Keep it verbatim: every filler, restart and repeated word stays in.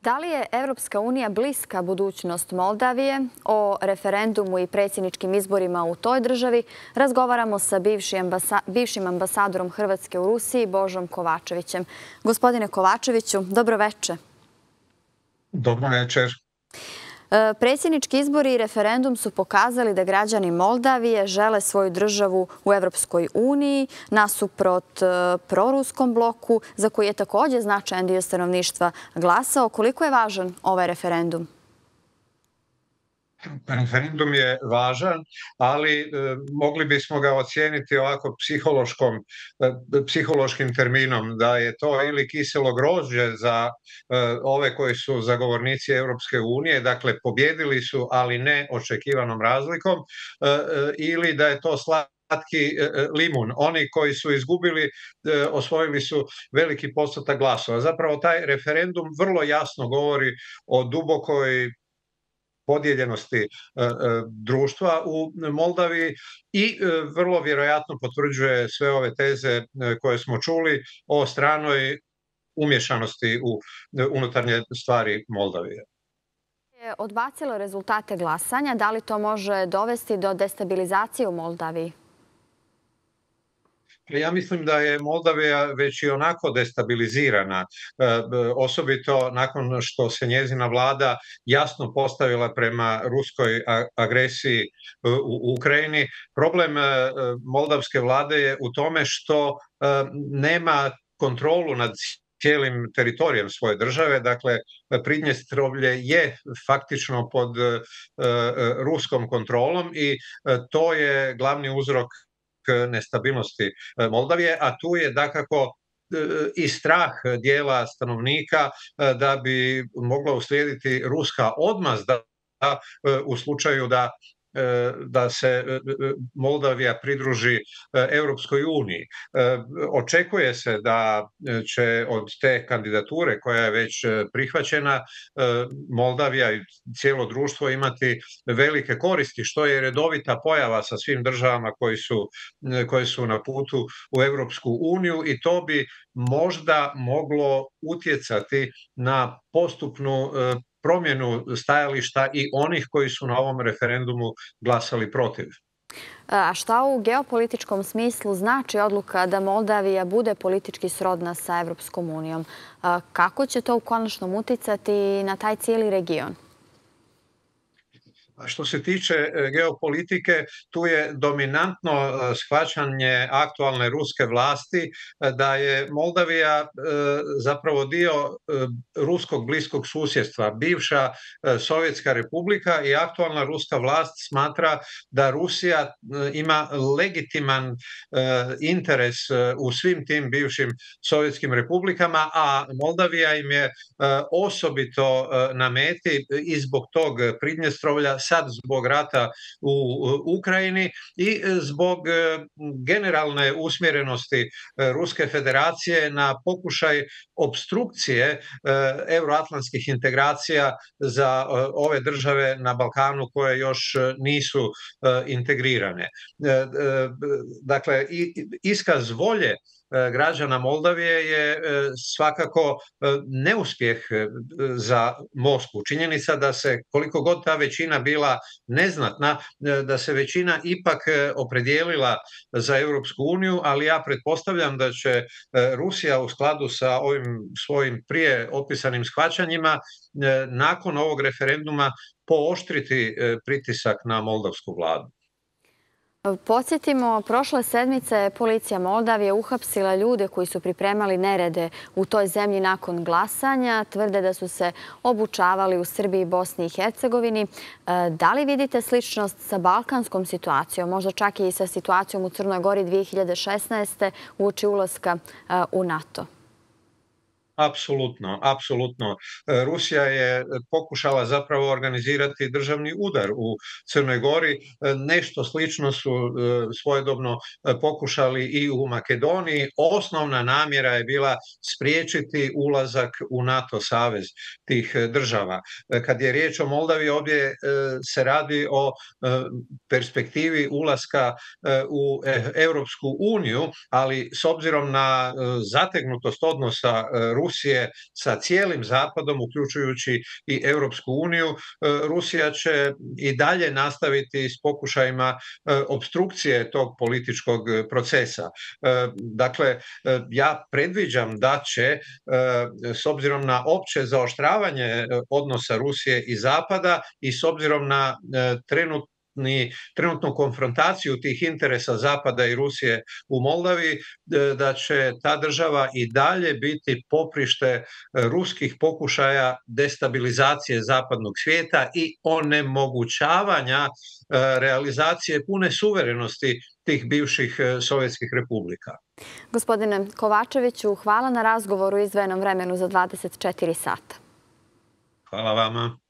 Da li je Evropska unija bliska budućnost Moldavije? O referendumu i predsjedničkim izborima u toj državi razgovaramo sa bivšim ambasadorom Hrvatske u Rusiji, Božom Kovačevićem. Gospodine Kovačeviću, dobro večer. Dobro večer. Predsjednički izbori i referendum su pokazali da građani Moldavije žele svoju državu u Evropskoj uniji nasuprot proruskom bloku, za koji je također značajan dio stanovništva glasao. Koliko je važan ovaj referendum? Referendum je važan, ali e, mogli bismo ga ocijeniti ovako psihološkom, e, psihološkim terminom, da je to ili kiselo grožđe za e, ove koji su zagovornici Europske unije, dakle pobjedili su, ali ne očekivanom razlikom, e, e, ili da je to slatki limun. Oni koji su izgubili, e, osvojili su veliki postotak glasova. Zapravo taj referendum vrlo jasno govori o dubokoj podijeljenosti društva u Moldaviji i vrlo vjerojatno potvrđuje sve ove teze koje smo čuli o stranoj umješanosti u unutarnje stvari Moldavije. Je odbacilo rezultate glasanja. Da li to može dovesti do destabilizacije u Moldaviji? Ja mislim da je Moldavija već i onako destabilizirana, osobito nakon što se njezina vlada jasno postavila prema ruskoj agresiji u Ukrajini. Problem moldavske vlade je u tome što nema kontrolu nad cijelim teritorijem svoje države. Dakle, Pridnjestrovlje je faktično pod ruskom kontrolom i to je glavni uzrok nestabilnosti Moldavije, a tu je dakako i strah dijela stanovnika da bi mogla uslijediti ruska odmazda u slučaju da da se Moldavija pridruži Europskoj uniji. Očekuje se da će od te kandidature koja je već prihvaćena Moldavija i cijelo društvo imati velike koristi, što je redovita pojava sa svim državama koji su, koje su na putu u Europsku uniju, i to bi možda moglo utjecati na postupnu promjenu stajališta i onih koji su na ovom referendumu glasali protiv. A šta u geopolitičkom smislu znači odluka da Moldavija bude politički srodna sa Evropskom unijom? Kako će to u konačnom uticati na taj cijeli region? Što se tiče geopolitike, tu je dominantno shvaćanje aktualne ruske vlasti da je Moldavija zapravo dio ruskog bliskog susjedstva. Bivša Sovjetska republika i aktualna ruska vlast smatra da Rusija ima legitiman interes u svim tim bivšim sovjetskim republikama, a Moldavija im je osobito na meti i zbog tog Pridnjestrovlja, sad zbog rata u Ukrajini i zbog generalne usmjerenosti Ruske federacije na pokušaj opstrukcije euroatlantskih integracija za ove države na Balkanu koje još nisu integrirane. Dakle, iskaz volje građana Moldavije je svakako neuspjeh za Moskvu. Činjenica da se, koliko god ta većina bila neznatna, da se većina ipak opredijelila za Europsku uniju, ali ja pretpostavljam da će Rusija u skladu sa ovim svojim prije opisanim shvaćanjima nakon ovog referenduma pooštriti pritisak na moldavsku vladu. Podsjetimo, prošle sedmice je policija Moldavije uhapsila ljude koji su pripremali nerede u toj zemlji nakon glasanja. Tvrde da su se obučavali u Srbiji i Bosni i Hercegovini. Da li vidite sličnost sa balkanskom situacijom, možda čak i sa situacijom u Crnoj Gori dvije hiljade šesnaeste. uoči ulaska u NATO? Apsolutno, apsolutno. Rusija je pokušala zapravo organizirati državni udar u Crnoj Gori. Nešto slično su svojedobno pokušali i u Makedoniji. Osnovna namjera je bila spriječiti ulazak u NATO savez tih država. Kad je riječ o Moldaviji, ovdje se radi o perspektivi ulaska u Europsku uniju, ali s obzirom na zategnutost odnosa Rusije Rusije sa cijelim Zapadom, uključujući i Europsku uniju, Rusija će i dalje nastaviti s pokušajima opstrukcije tog političkog procesa. Dakle, ja predviđam da će, s obzirom na opće zaoštravanje odnosa Rusije i Zapada i s obzirom na trenutno trenutnu konfrontaciju tih interesa Zapada i Rusije u Moldaviji, da će ta država i dalje biti poprište ruskih pokušaja destabilizacije zapadnog svijeta i onemogućavanja realizacije pune suverenosti tih bivših sovjetskih republika. Gospodine Kovačeviću, hvala na razgovoru i izdvojenom vremenu za dvadeset četiri sata. Hvala vama.